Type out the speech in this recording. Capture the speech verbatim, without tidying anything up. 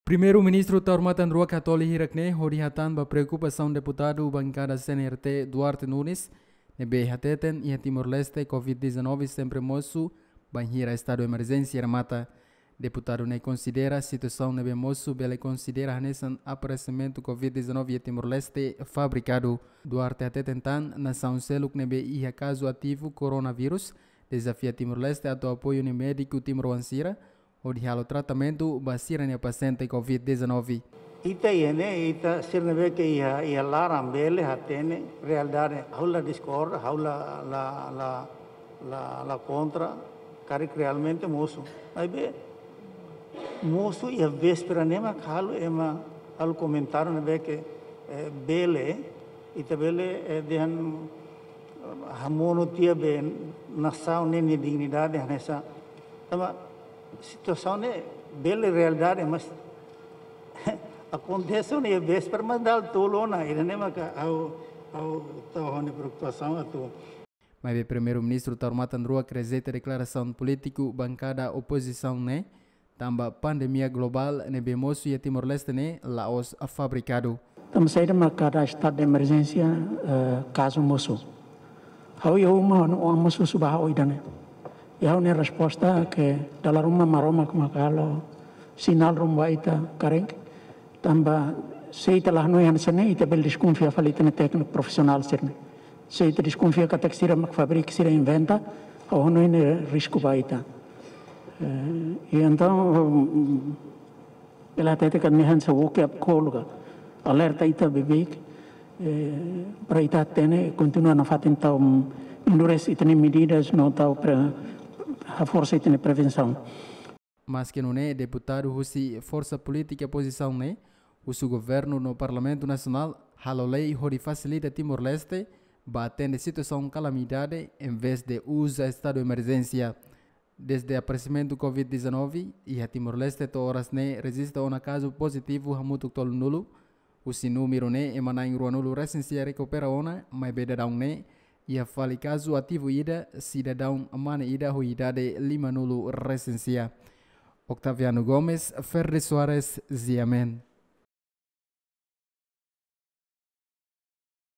Primeiru-Ministru Taur Matan Ruak hatoli hirak ne'e hodi hatán ba preokupasaun deputadu bankada C N R T Duarte Nunes, ne'ebé hateten iha Timor-Leste covid dezanove sempre mosu bainhira estadu emerjénsia remata. Deputadu ne'e konsidera situasaun ne'ebé mosu bele konsidera hanesan aparesimentu covid dezanove iha Timor-Leste fabrikadu. Duarte hateten tan nasaun seluk ne'ebé iha kazu ativu koronavírus dezafia Timor-Leste atu apoiu nia médiku timoroan sira hodi halo tratamentu ba sira-nia pasiente covid dezanove. Ita iha ne'e, ita sira ne'ebé ke iha, iha laran bele hatene realidade. Ha'u la diskorda, ha'u la, la, la, la, la kontra, karik realmente mosu. Maibé, mosu iha véspera ne'e mak halo ema halo komentáriu ne'ebé ke, eh, bele, ita bele, eh, dehan, eh, hamonu tiha be nasaun ne'e nia dignidade hanesan. Tanba situasaun ne'e bele realidade, mas akontese ona iha véspera, mas dala tolu ona, ida-ne'e maka ha'u, ha'u tau ha'u-nia preokupasaun atu. Maibé Primeiru-Ministru Taur Matan Ruak rejeita deklarasaun polítiku bankada opozisaun ne'e, tanba pandemia globál ne'ebé mosu iha Timor-Leste ne'e la'ós fabrikadu. Tanba saida mak kada estadu de emerjénsia, eh, kazu mosu. Ha'u iha uma, ha'u-nia oan mosu subaha ho ida-ne'e. I ha'u-nia resposta ke dala ruma Maromak mak halo sinál ruma ba ita karik. Tanba se ita la hanoin hanesan ne'e, ita bele deskonfia fali ita-nia tékniku profisionál sira-ne'e. Se ita deskonfia katak sira mak fabrika, sira inventa, ha'u hanoin ne'e risku ba ita. Eh, i entaun, mm, bele hatete katak ne'e hanesan wake up call ka, alerta ita beibeik, eh, para ita hatene, kontinua nafatin tau, mm, endurese ita-nia medidas no tau pre-, haforsa ita-nia prevensaun. Maske nune'e, deputadu husi forsa polítika opozisaun ne'e husu governu no Parlamentu Nasionál halo lei hodi fasilita Timor-Leste ba atende situasaun kalamidade, envezde uza estadu emerjénsia. Dezde aparesimentu covid dezanove, iha Timor-Leste to'o oras ne'e rejista ona kazu pozitivu hamutuk tolunulu. Husi númeru ne'e, ema na'in ruanulu resin sia rekupera ona, maibé daudaun ne'e iha fali kazu ativu ida, sidadaun mane ida ho idade limanulu resin sia. Octaviano Gomes, Ferdi Soares, Ziamen.